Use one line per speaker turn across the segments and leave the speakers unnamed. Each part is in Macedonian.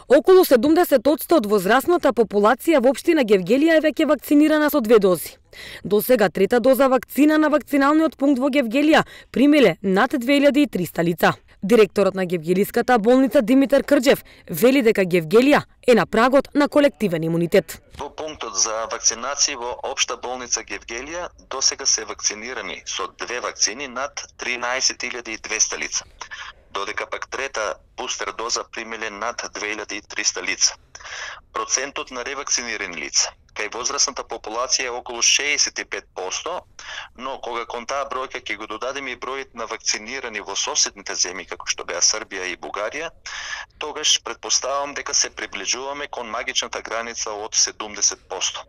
Околу 70% од возрастната популација во општина Гевгелија е веќе вакцинирана со 2 дози. До сега трета доза вакцина на вакциналниот пункт во Гевгелија примиле над 2300 лица. Директорот на Гевгелиската болница Димитар Крџев вели дека Гевгелија е на прагот на колективен имунитет.
Во пунктот за вакцинација во општа болница Гевгелија досега се вакцинирани со 2 вакцини над 13200 лица, додека пак трета бустер доза примиле над 2300 лица. Процентот на ревакцинирани лица кај возрастната популација е околу 65%, но кога кон таа бројка ќе го додадеме и бројот на вакцинирани во соседните земји како што беа Србија и Бугарија, тогаш претпоставувам дека се приближуваме кон магичната граница од 70%.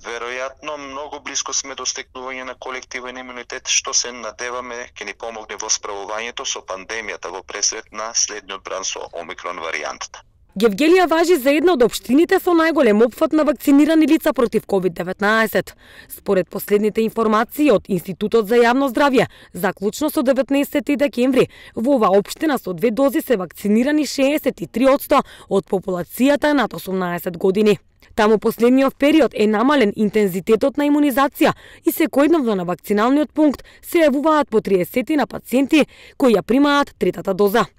Веројатно многу близко сме до стекнување на колективен имунитет, што се надеваме ќе ни помогне во справувањето со пандемијата во пресрет на следниот бран со омикрон варијантата.
Гевгелија важи за една од општините со најголем опфат на вакцинирани лица против COVID-19. Според последните информации од Институтот за јавно здравје, заклучно со 19 декември, во оваа општина со 2 дози се вакцинирани 63% од популацијата над 18 години. Таму последниот период е намален интензитетот на имунизација и секојдневно на вакциналниот пункт се јавуваат по 30 на пациенти кои ја примаат третата доза.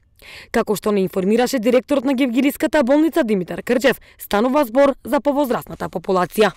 Како што не информираше директорот на Гевгелиската болница Димитар Крџев, станува збор за повозрастната популација.